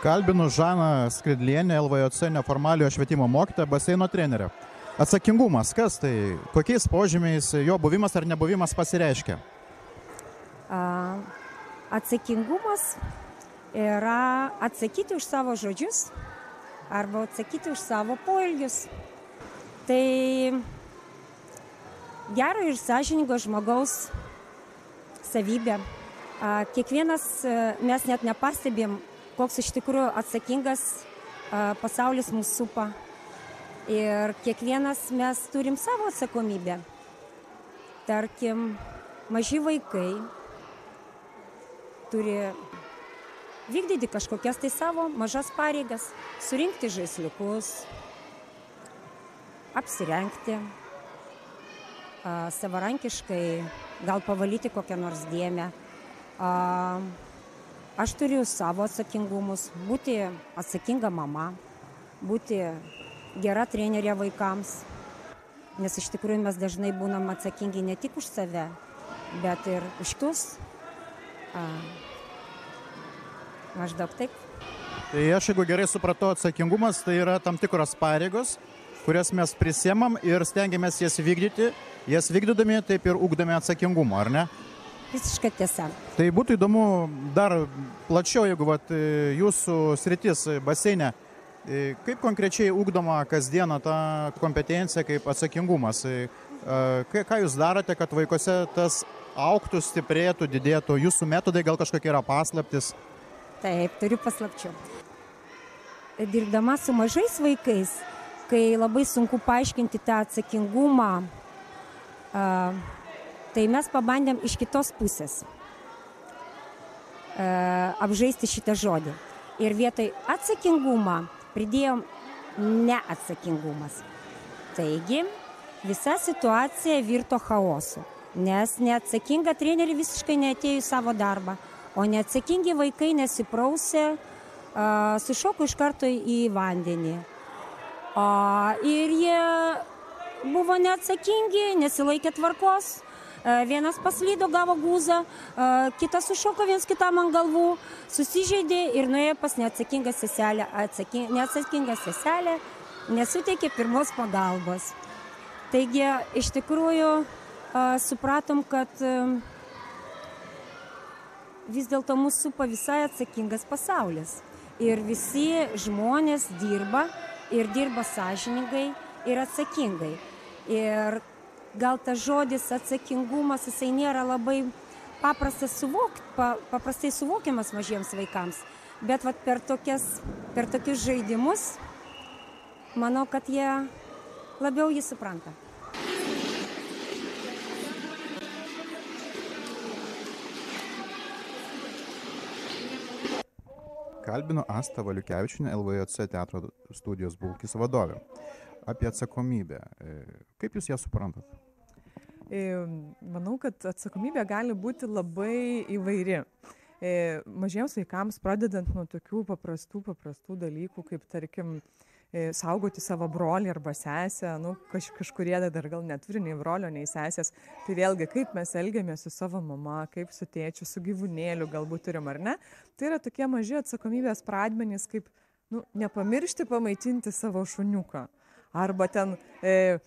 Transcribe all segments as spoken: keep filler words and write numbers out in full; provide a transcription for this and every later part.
Kalbinu Žaną Skridlienę, L V J C neformaliojo švietimo mokytoją, baseino trenerę. Atsakingumas, kas tai, kokiais požymiais jo buvimas ar nebuvimas pasireiškia? Atsakingumas yra atsakyti už savo žodžius arba atsakyti už savo poelgius. Tai gero ir sąžiningo žmogaus savybė. Kiekvienas mes net nepastebėm, koks iš tikrųjų atsakingas pasaulis mūsų supa. Ir kiekvienas mes turim savo atsakomybę. Tarkim, maži vaikai turi vykdyti kažkokias tai savo mažas pareigas, surinkti žaisliukus, apsirengti, savarankiškai gal pavalyti kokią nors dėmę. Aš turiu savo atsakingumus, būti atsakinga mama, būti gera trenerė vaikams, nes iš tikrųjų mes dažnai būnam atsakingi ne tik už save, bet ir už kitus. Maždaug taip. Tai aš, jeigu gerai supratau, atsakingumas tai yra tam tikros pareigos, kurias mes prisiemam ir stengiamės jas vykdyti, jas vykdydami taip ir ugdami atsakingumą, ar ne? Visiškai tiesa. Tai būtų įdomu dar plačiau, jeigu vat, jūsų sritis baseine, kaip konkrečiai ugdoma kasdieną ta kompetencija kaip atsakingumas? Ką jūs darote, kad vaikuose tas augtų, stiprėtų, didėtų? Jūsų metodai gal kažkokie yra paslaptis? Taip, turiu paslapčių. Dirbdama su mažais vaikais, kai labai sunku paaiškinti tą atsakingumą, tai mes pabandėm iš kitos pusės apžaisti šitą žodį. Ir vietoj atsakingumą pridėjom neatsakingumas. Taigi, visa situacija virto chaosu, nes neatsakinga trenerė visiškai neatėjo į savo darbą, o neatsakingi vaikai nesiprausė, sušoko iš karto į vandenį. Ir jie buvo neatsakingi, nesilaikė tvarkos. Vienas paslydo, gavo gūzą, kitas sušoko viens kitam ant galvų, susižeidė ir nuėjo pas neatsakingą seselę. Neatsakinga seselė nesuteikė pirmos pagalbos. Taigi, iš tikrųjų, supratom, kad vis dėlto mūsų supa visai atsakingas pasaulis. Ir visi žmonės dirba ir dirba sąžiningai ir atsakingai. Ir gal tas žodis atsakingumas, jisai nėra labai paprastas suvokti, paprastai suvokiamas mažiems vaikams, bet vat per tokias, per tokius žaidimus, manau, kad jie labiau jį supranta. Kalbinu Astą Valiukevičienę, L V J C teatro studijos Bulkis vadovė. Apie atsakomybę. Kaip jūs ją suprantat? Manau, kad atsakomybė gali būti labai įvairi. Mažiems vaikams pradedant nuo tokių paprastų, paprastų dalykų, kaip tarkim saugoti savo brolį arba sesę, nu, kaž, kažkurie dar gal neturi nei brolio, nei sesės. Tai vėlgi, kaip mes elgiamės su savo mama, kaip su tėčiu, su gyvūnėliu galbūt turim ar ne. Tai yra tokie maži atsakomybės pradmenys, kaip nu, nepamiršti pamaitinti savo šuniuką. Arba ten e,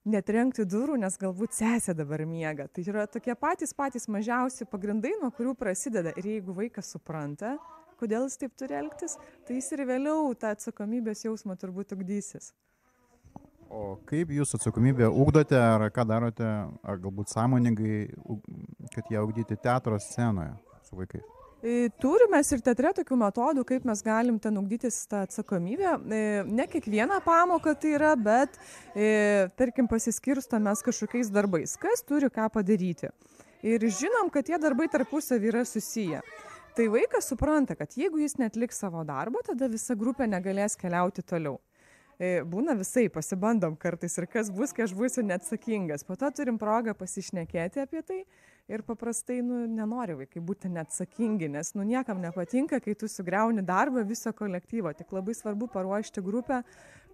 netrenkti durų, nes galbūt sesė dabar miega. Tai yra tokie patys patys mažiausi pagrindai, nuo kurių prasideda. Ir jeigu vaikas supranta, kodėl jis taip turi elgtis, tai jis ir vėliau tą atsakomybės jausmą turbūt ugdysis. O kaip jūs atsakomybę ugdote, ar ką darote, ar galbūt sąmoningai, kad ją ugdyti teatro scenoje su vaikais? Turime ir teatre tokių metodų, kaip mes galim ten ugdytis tą atsakomybę. Ne kiekvieną pamoką tai yra, bet tarkim pasiskirsto mes kažkokiais darbais, kas turi ką padaryti. Ir žinom, kad tie darbai tarpusavy yra susiję. Tai vaikas supranta, kad jeigu jis neatliks savo darbo, tada visa grupė negalės keliauti toliau. Būna visai, pasibandom kartais ir kas bus, kai aš būsiu neatsakingas. Po to turim progą pasišnekėti apie tai ir paprastai nu, nenori vaikai būti neatsakingi, nes nu, niekam nepatinka, kai tu sugriauni darbą viso kolektyvo. Tik labai svarbu paruošti grupę,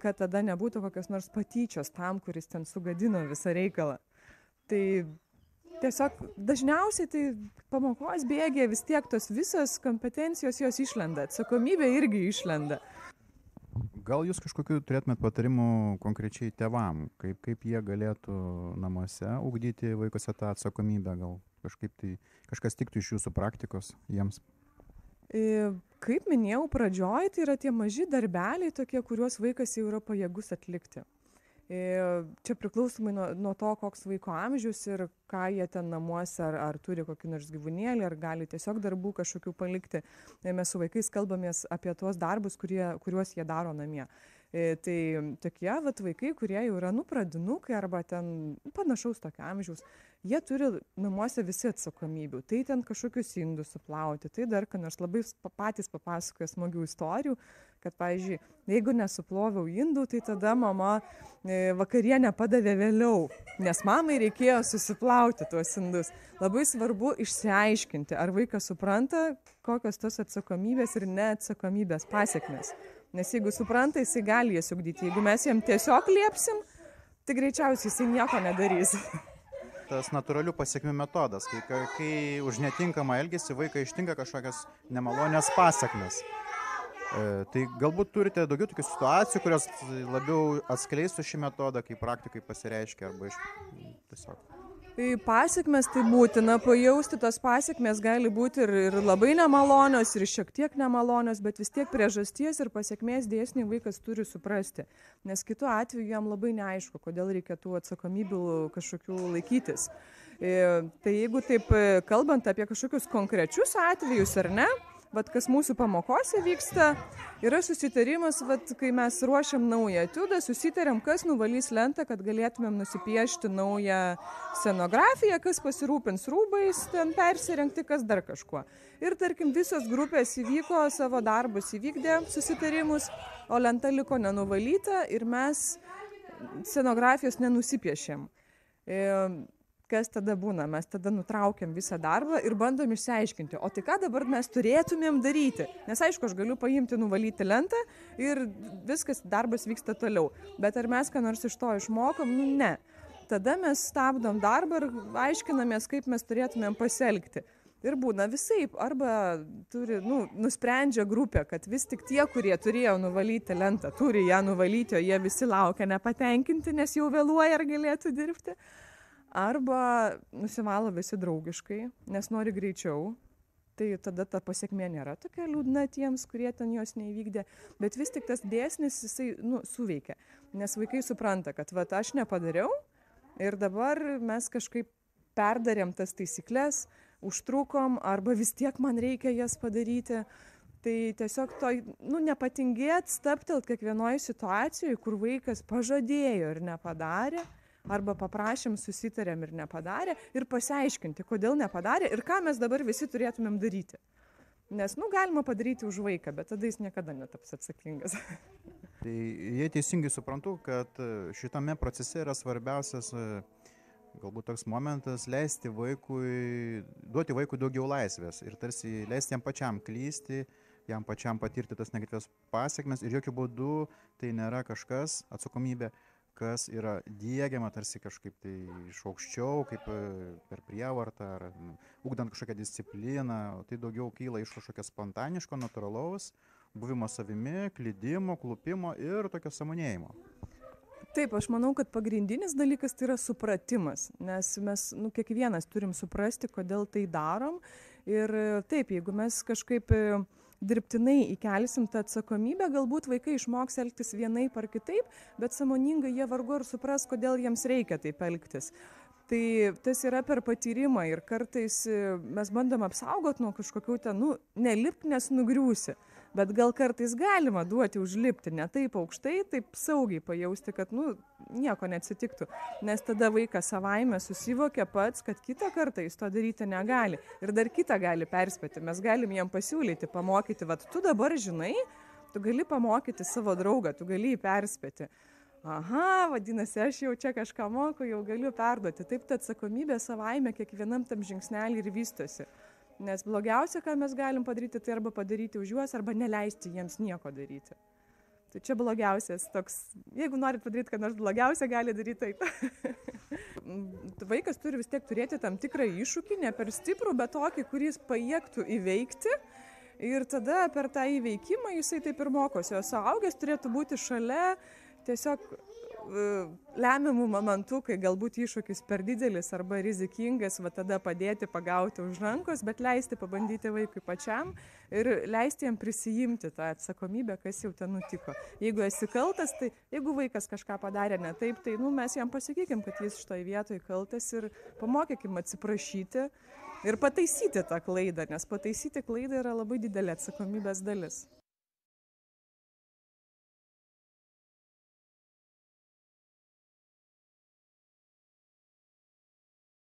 kad tada nebūtų kokios nors patyčios tam, kuris ten sugadino visą reikalą. Tai tiesiog dažniausiai tai pamokos bėgė vis tiek tos visas kompetencijos jos išlenda, atsakomybė irgi išlenda. Gal jūs kažkokių turėtumėt patarimų konkrečiai tėvam, kaip, kaip jie galėtų namuose ugdyti vaikuose tą atsakomybę, gal kažkaip tai kažkas tiktų iš jūsų praktikos jiems? Kaip minėjau pradžioj, tai yra tie maži darbeliai tokie, kuriuos vaikas jau yra pajėgus atlikti. Čia priklausomai nuo, nuo to, koks vaiko amžius ir ką jie ten namuose, ar, ar turi kokį nors gyvūnėlį, ar gali tiesiog darbų kažkokių palikti. Mes su vaikais kalbamės apie tuos darbus, kurie, kuriuos jie daro namie. Tai tokie vat, vaikai, kurie jau yra nu pradinukai arba ten panašaus tokio amžiaus, jie turi namuose visi atsakomybių. Tai ten kažkokius indus suplauti, tai dar ką nors labai patys papasakoja smagių istorijų, kad, pavyzdžiui, jeigu nesuploviau indų, tai tada mama vakarienę padavė vėliau, nes mamai reikėjo susiplauti tuos indus. Labai svarbu išsiaiškinti, ar vaikas supranta, kokios tos atsakomybės ir neatsakomybės pasekmės. Nes jeigu supranta, jisai gali jas ugdyti. Jeigu mes jam tiesiog liepsim, tai greičiausiai jisai nieko nedarys. Tas natūralių pasekmių metodas, kai, kai už netinkamą elgesį vaiką ištinka kažkokias nemalonės pasekmes. E, tai galbūt turite daugiau tokių situacijų, kurios labiau atskleistų šį metodą, kai praktikai pasireiškia arba iš tiesiog. Tai pasekmes tai būtina pajausti, tos pasekmes gali būti ir, ir labai nemalonios, ir šiek tiek nemalonios, bet vis tiek priežasties ir pasekmės dėsnį vaikas turi suprasti. Nes kitu atveju jam labai neaišku, kodėl reikėtų atsakomybių kažkokių laikytis. E, tai jeigu taip kalbant apie kažkokius konkrečius atvejus ar ne, vat kas mūsų pamokose vyksta, yra susitarimas, vat kai mes ruošiam naują etiudą, susitariam, kas nuvalys lentą, kad galėtumėm nusipiešti naują scenografiją, kas pasirūpins rūbais, ten persirengti, kas dar kažkuo. Ir tarkim, visos grupės įvyko, savo darbus įvykdė, susitarimus, o lenta liko nenuvalyta ir mes scenografijos nenusipiešėm. E, Kas tada būna? Mes tada nutraukiam visą darbą ir bandom išsiaiškinti, o tai ką dabar mes turėtumėm daryti? Nes aišku, aš galiu paimti, nuvalyti lentą ir viskas, darbas vyksta toliau. Bet ar mes ką nors iš to išmokom? Nu, ne. Tada mes stabdom darbą ir aiškinamės, kaip mes turėtumėm pasielgti. Ir būna visaip, arba turi, nu, nusprendžia grupė, kad vis tik tie, kurie turėjo nuvalyti lentą, turi ją nuvalyti, o jie visi laukia nepatenkinti, nes jau vėluoja ar galėtų dirbti. Arba nusivalo visi draugiškai, nes nori greičiau, tai tada ta pasiekmė nėra tokia liūdna tiems, kurie ten jos neįvykdė, bet vis tik tas dėsnis jisai nu, suveikia, nes vaikai supranta, kad vat, aš nepadariau ir dabar mes kažkaip perdarėm tas taisyklės, užtrukom, arba vis tiek man reikia jas padaryti. Tai tiesiog to, nu, nepatingėt, stabtelt kiekvienoje situacijoje, kur vaikas pažadėjo ir nepadarė, arba paprašėm, susitarėm ir nepadarė, ir pasiaiškinti, kodėl nepadarė ir ką mes dabar visi turėtumėm daryti. Nes, nu, galima padaryti už vaiką, bet tada jis niekada netaps atsakingas. Tai jei teisingai suprantu, kad šitame procese yra svarbiausias galbūt toks momentas leisti vaikui, duoti vaikui daugiau laisvės ir tarsi leisti jam pačiam klysti, jam pačiam patirti tas negatyvias pasekmes ir jokių būdų tai nėra kažkas atsakomybė, kas yra diegiama tarsi kažkaip tai iš aukščiau, kaip per prievartą ar ugdant kažkokią discipliną, tai daugiau kyla iš kažkokio spontaniško, natūralaus buvimo savimi, klydimo, klupimo ir tokio sąmonėjimo. Taip, aš manau, kad pagrindinis dalykas tai yra supratimas, nes mes nu, kiekvienas turim suprasti, kodėl tai darom. Ir taip, jeigu mes kažkaip dirbtinai įkelsim tą atsakomybę, galbūt vaikai išmoks elgtis vienaip ar kitaip, bet sąmoningai jie vargu ar supras, kodėl jiems reikia taip elgtis. Tai tas yra per patyrimą ir kartais mes bandom apsaugot nuo kažkokių ten, nu, nelipk, nes nugriūsi. Bet gal kartais galima duoti užlipti ne taip aukštai, taip saugiai pajausti, kad nu, nieko neatsitiktų. Nes tada vaikas savaime susivokia pats, kad kitą kartą jis to daryti negali. Ir dar kitą gali perspėti. Mes galim jam pasiūlyti, pamokyti, vat tu dabar žinai, tu gali pamokyti savo draugą, tu gali jį perspėti. Aha, vadinasi, aš jau čia kažką moku, jau galiu perduoti. Taip ta atsakomybė savaime kiekvienam tam žingsnelį ir vystosi. Nes blogiausia, ką mes galim padaryti, tai arba padaryti už juos, arba neleisti jiems nieko daryti. Tai Tai čia blogiausias toks, jeigu norit padaryti, kad nors blogiausia, gali daryti taip. Vaikas turi vis tiek turėti tam tikrą iššūkį, ne per stiprų, bet tokį, kuris pajėgtų įveikti. Ir tada per tą įveikimą jisai taip ir mokosi. O suaugęs turėtų būti šalia tiesiog lemiamų momentų, kai galbūt iššūkis per didelis arba rizikingas, va tada padėti, pagauti už rankos, bet leisti pabandyti vaikui pačiam ir leisti jam prisijimti tą atsakomybę, kas jau ten nutiko. Jeigu esi kaltas, tai jeigu vaikas kažką padarė ne taip, tai nu, mes jam pasakykim, kad jis šitoj vietoj kaltas ir pamokykim atsiprašyti ir pataisyti tą klaidą, nes pataisyti klaidą yra labai didelė atsakomybės dalis.